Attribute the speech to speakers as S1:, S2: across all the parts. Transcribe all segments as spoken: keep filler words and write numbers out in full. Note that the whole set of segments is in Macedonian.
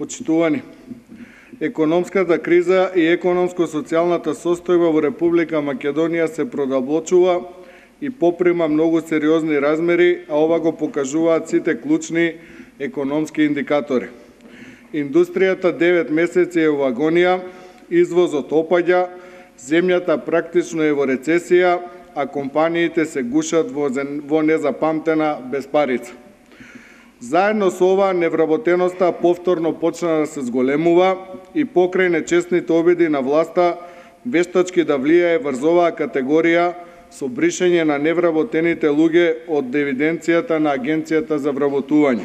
S1: Почитувани, економската криза и економско-социјалната состојба во Република Македонија се продолбочува и поприма многу сериозни размери, а ова го покажуваат сите клучни економски индикатори. Индустријата девет месеци е во агонија, извозот опаѓа, земјата практично е во рецесија, а компаниите се гушат во, во незапамтена безпарица. Заедно со ова, невработеноста повторно почна да се зголемува и покрај нечестните обиди на власта вештачки да влијае врз оваа категорија со бришење на невработените луѓе од евиденцијата на Агенцијата за вработување.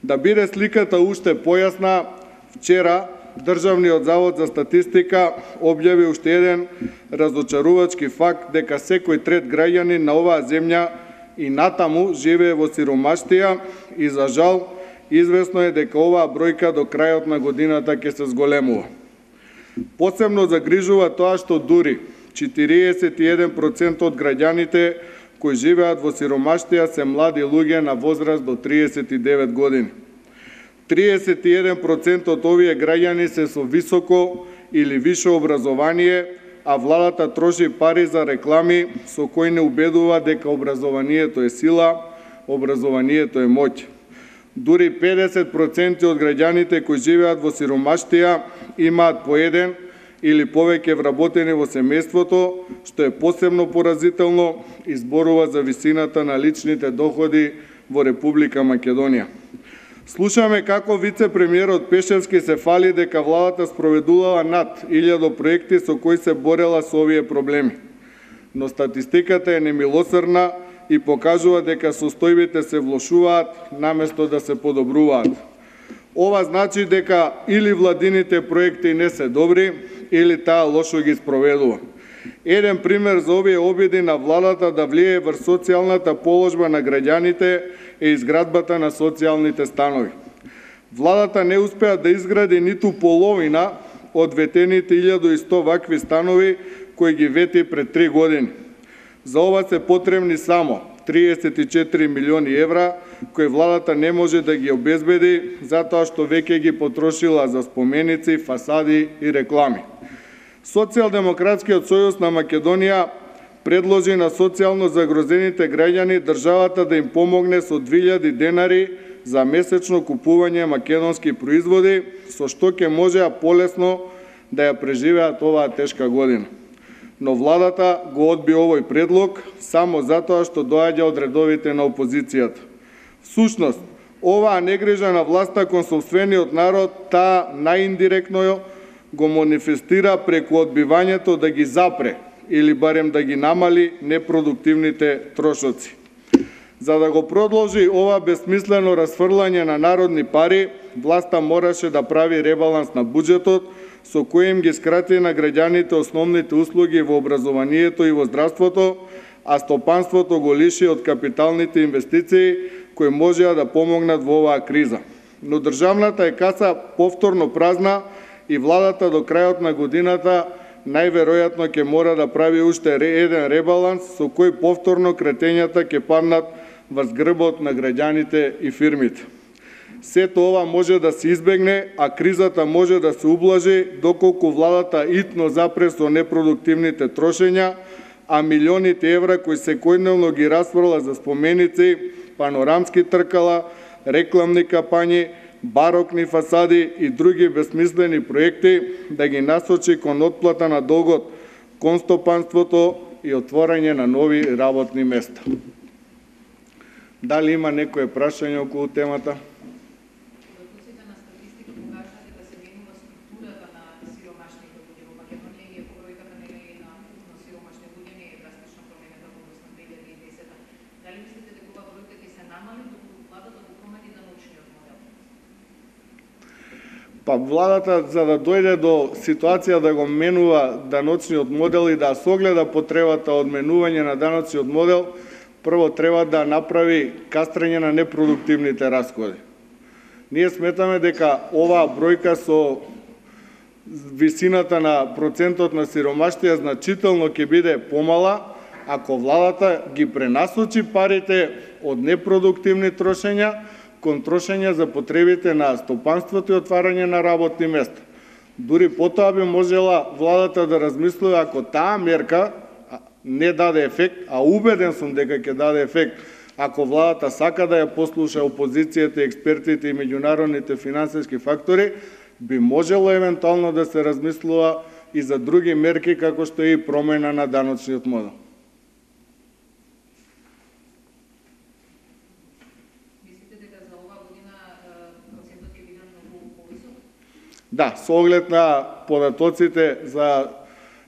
S1: Да биде сликата уште појасна, вчера Државниот завод за статистика објави уште еден разочарувачки факт дека секој трет граѓанин на оваа земја и натаму живее во сиромаштија и за жал извесно е дека оваа бројка до крајот на годината ќе се зголемува. Посебно загрижува тоа што дури четириесет и еден проценти од граѓаните кои живеат во сиромаштија се млади луѓе на возраст до триесет и девет години. триесет и еден проценти од овие граѓани се со високо или висше образование, а владата троши пари за реклами со кои не убедува дека образованието е сила, образованието е моќ. Дури педесет проценти од граѓаните кои живеат во сиромаштија имаат по еден или повеќе вработени во семејството, што е посебно поразително и зборува за висината на личните доходи во Република Македонија. Слушаме како вице-премиерот Пешевски се фали дека владата спроведувала над илјада проекти со кои се борела со овие проблеми. Но статистиката е немилосрдна и покажува дека состојбите се влошуваат наместо да се подобруваат. Ова значи дека или владините проекти не се добри, или таа лошо ги спроведува. Еден пример за овие обиди на владата да влијае врз социјалната положба на граѓаните е изградбата на социјалните станови. Владата не успеа да изгради ниту половина од ветените илјада и сто вакви станови кои ги вети пред три години. За ова се потребни само триесет и четири милиони евра, кои владата не може да ги обезбеди затоа што веќе ги потрошила за споменици, фасади и реклами. Социјалдемократскиот сојуз на Македонија предложи на социјално загрозените граѓани државата да им помогне со две илјади денари за месечно купување македонски производи, со што ќе можеа полесно да ја преживеат оваа тешка година. Но владата го одби овој предлог само затоа што доаѓа од редовите на опозицијата. Всушност, оваа негрижа на власта кон сопствениот народ, таа наиндиректно го манифестира преку одбивањето да ги запре или барем да ги намали непродуктивните трошоци. За да го продолжи ова безсмислено расфрлање на народни пари, власта мораше да прави ребаланс на буџетот, со кој им ги скрати на граѓаните основните услуги во образованието и во здравството, а стопанството го лиши од капиталните инвестиции кои можеа да помогнат во оваа криза. Но државната е каса повторно празна и владата до крајот на годината најверојатно ќе мора да прави уште еден ребаланс со кој повторно кретењата ќе паднат врз грбот на граѓаните и фирмите. Сето ова може да се избегне, а кризата може да се ублажи доколку владата итно запре со непродуктивните трошења, а милионите евра кои секојдневно ги расфрла за споменици, панорамски тркала, рекламни кампањи, барокни фасади и други безсмислени проекти да ги насочи кон отплата на долгот кон стопанството и отворање на нови работни места. Дали има некое прашање околу темата? Па владата, за да дојде до ситуација да го менува даночниот модел и да согледа потребата од менување на даночниот модел, прво треба да направи кастрење на непродуктивните расходи. Ние сметаме дека оваа бројка со висината на процентот на сиромаштија значително ќе биде помала, ако владата ги пренасочи парите од непродуктивни трошења кон трошење за потребите на стопанството и отварање на работни места. Дури потоа би можела владата да размислува ако таа мерка не даде ефект, а убеден сум дека ќе даде ефект, ако владата сака да ја послуша опозицијата, експертите и меѓународните финансиски фактори, би можело евентуално да се размислува и за други мерки, како што е и промена на даночниот модел.
S2: Мислите дека за оваа година процентот ќе биде многу повисок?
S1: Да, со оглед на податоците за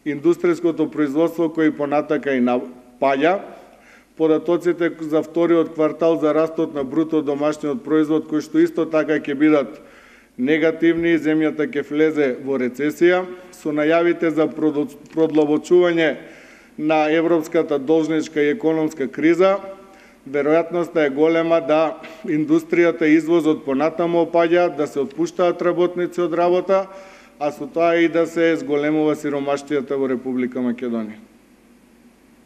S1: индустријското производство кои понатака и напаѓа, податоците за вториот квартал за растот на бруто домашниот производ, кои што исто така ќе бидат негативни, земјата ќе влезе во рецесија, со најавите за продлабочување на европската должничка и економска криза, веројатноста е голема да индустријата и извозот понатаму опаѓаат, да се отпуштаат работници од работа, а со тоа и да се зголемува сиромаштијата во Република Македонија.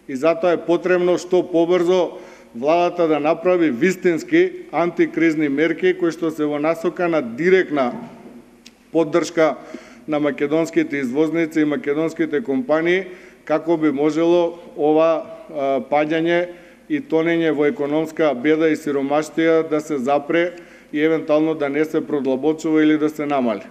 S1: И затоа е потребно што побрзо владата да направи вистински антикризни мерки кои што се во насока на директна поддршка на македонските извозници и македонските компании, како би можело ова паѓање и тонење во економска беда и сиромаштија да се запре и евентуално да не се продлабочува или да се намали.